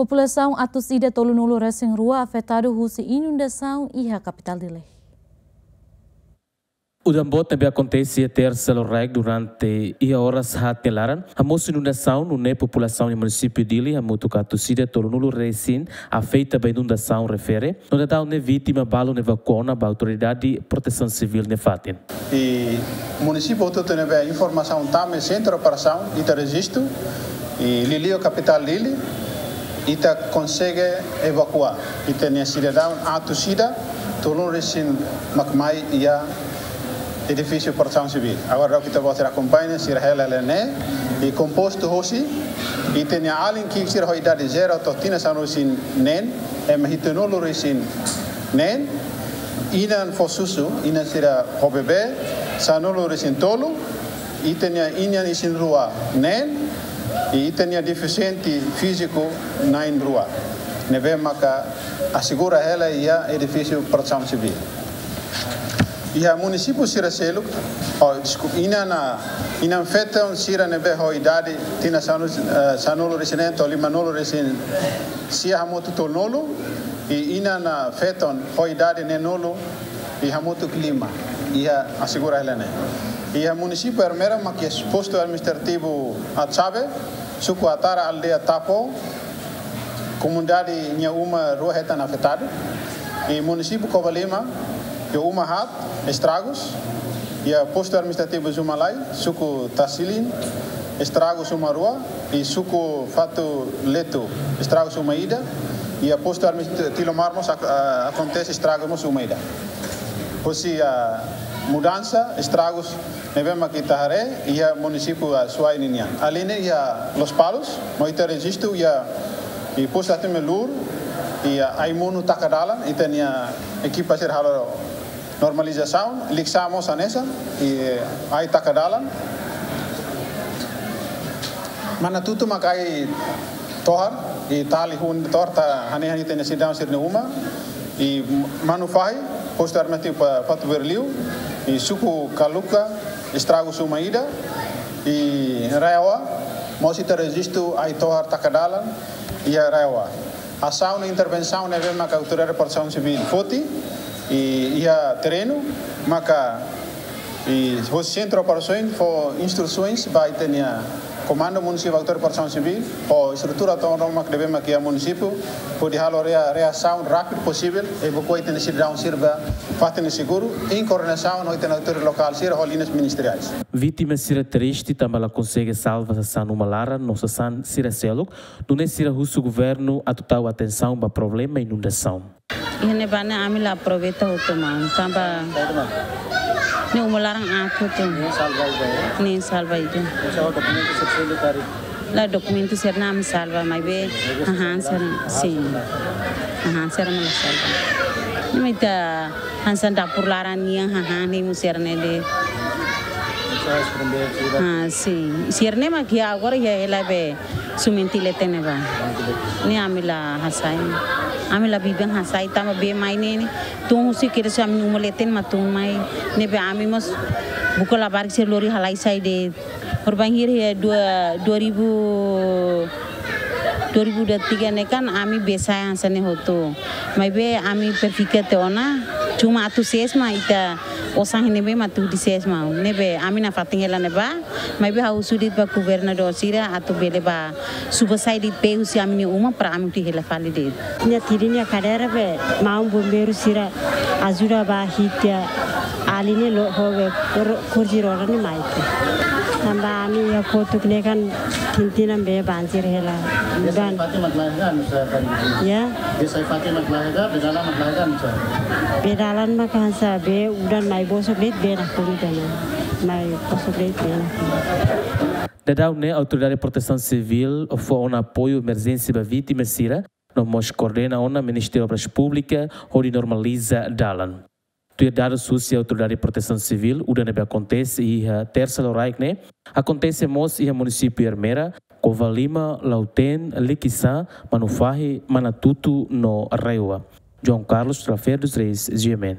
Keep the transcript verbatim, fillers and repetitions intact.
Populasaun atus ida tolunulu resin rua afetadu husi inundasaun iha kapitál Dili. Udan boot ne'ebé akontese iha tersa loraik durante iha oras haat nia laran hamosu inundasaun, nune'e populasaun iha munisípiu Dili hamutuk atus ida tolunulu resin afeta ba inundasaun refere, no daudaun ne'e vítima balun evakua ona ba Autoridade Protesaun Sivíl nia fatin. I munisípiu hotu-hotu ne'ebé informasaun tama iha sentru operasaun, ita rejistu, i liuliu kapitál Dili, ita konsege evakua ita-nia sidadaun atus ida tolunulu resin mak mai iha edifísiu Protesaun Sivíl. Agora daudaun ita-boot sira akompaña, sira hela hela ne'e, i kompostu hosi ita-nia alin ki'ik sira ho idade zero to'o tinan sanulu resin neen, ema hitunulu resin neen, inan fó susu, inan sira ho bebé, sanulu resin tolu, ita-nia inan isin-rua neen, i ita-nia defisiente fíziku na'in-rua, ne'ebé maka asegura hela iha edifísiu Protesaun Sivíl. Iha munisípiu sira seluk, oh, deskulpa, inan, inan-feton sira ne'ebé ho idade tinan sanulu, eh, sanulu resin neen to'o limanulu resin sia hamutuk tolunulu, i inan, ah, feton ho idade neenulu i hamutuk lima, iha asegura hela ne'e. Iha munisípiu Ermera mak iha postu administrativu Atsabe, suku Atara, aldeia Tapo, komunidade nia uma rua hetan afetadu. I munisípiu Covalima, iha uma haat estragus, iha postu administrativu Zumalai, suku Tasilin, estragus uma rua, i suku Fatuletu, estragus uma ida, iha postu administrativu Tilomar mós ak-, ah, akontese estragus mós uma ida. Hosi, ah, mudansa, estragus ne'ebé mak ita haree iha munisípiu, ah, Suai ninian. Alin ne'e iha Lospalos, no ita rejistu iha, i postu administrativu Melur, iha ai-monu taka dalan, ita-nia ekipa sira halo normalizasaun, Likisá mós hanesan, i ai taka dalan. Manatutu mak ai tohar, i tali hun tohar, ta hanehan ita-nia sidadaun sira-nia uma, i Manufahi, postu administrativu Fatuberliu, i suku Kaluka, estragus uma ida, i RAEOA, mós ita rejistu ai tohar taka dalan, iha RAEOA. Asaun no intervensaun ne'ebé maka Autoridade Protesaun Sivíl foti, i iha terrenu, maka, i hosi sentru operasaun fó instrusaun ba ita-nia Komandu Munisípiu Autoridade Protesaun Sivíl, ho estrutura tomak ne'ebé mak iha munisípiu, hodi halo rea-, reasaun rápidu posivel, evakua ita-nia sidadaun sira ba fatin ne'ebé seguru, em koordenasaun ho ita-nia autoridade lokál sira ho liñas ministeriais. Vítima sira triste tanba la konsege salva sasán uma laran no sasán sira seluk, nune'e sira husu governu atu tau atensaun ba problema inundasaun. Iha ne'ebá ne'e ami la aproveita hotu maun, tanba ne'e uma laran aat hotu. Ne'e salva ida, ya? Ne'e salva ida. Esa dokumentu sira seluk karik? La, dokumentu sira-ne'e ami salva, maibé hahán sira, sin. Hahán sira mak la salva. Ne'e mak ita hanesan dapur laran nian, hahán ne'e mak sira-ne'e de'it. Esa es primeiru sira. Ah, sin. Sira-ne'e mak iha agora iha hela be suminti leten ne'ebá. Ne'e ami la hasai. Ami la biban hasai tanba bee mai ne'e, ne'e tun husi kedas ami-nia uma leten mak tun mai. Ne'ebé ami mós buka labarik sira lori halai sai de'it. Horibainhira iha dua, dua ribu, dua ribu dua tiga ne'e kan ami bee sai hanesan ne'e hotu. Maibé ami berpikir tiha ona, cuma atu sees mak ita osan iha ne'ebé mak atu sees mak. Ne'ebé ami nafatin hela ne'ebá, maibé ha'u husu de'it ba governadór sira atu bele bá suba sai de'it bee husi ami-nia uma para ami atu hela fali de'it. Nia tiri nia kadeira be, maun bombeiru sira ajuda bá hi'it tiha alin ne'e, lori ho be kor-, korredór ne'e mai tiha. Tanba ami iha kotuk ne'e kan tinan-tinan bee banjir hela. Bee sai udan. Fatin mak la'o ka, anu sa kan? Ya. Bee sai fatin mak la'o ka, bee dalan mak la'o ka, anu sa? Bee dalan mak hanesan bee udan mai bosok de'it bee nakonu tiha ona. Mai bosok de'it bee nakonu. Daudaun ne'e Autoridade Protesaun Sivíl fó ona apoiu emerjénsia ba vítima sira, no mós koordena ona Ministériu Obras Públikas hodi normaliza dalan. Tuir dadus husi Autoridade Protesaun Sivíl, udan ne'ebé akontese iha tersa loraik ne'e, akontese mós iha munisípiu Ermera, Covalima, Lautém, Likisá, Manufahi, Manatutu no RAEOA. João Carlos Trafer dos Reis, G M N.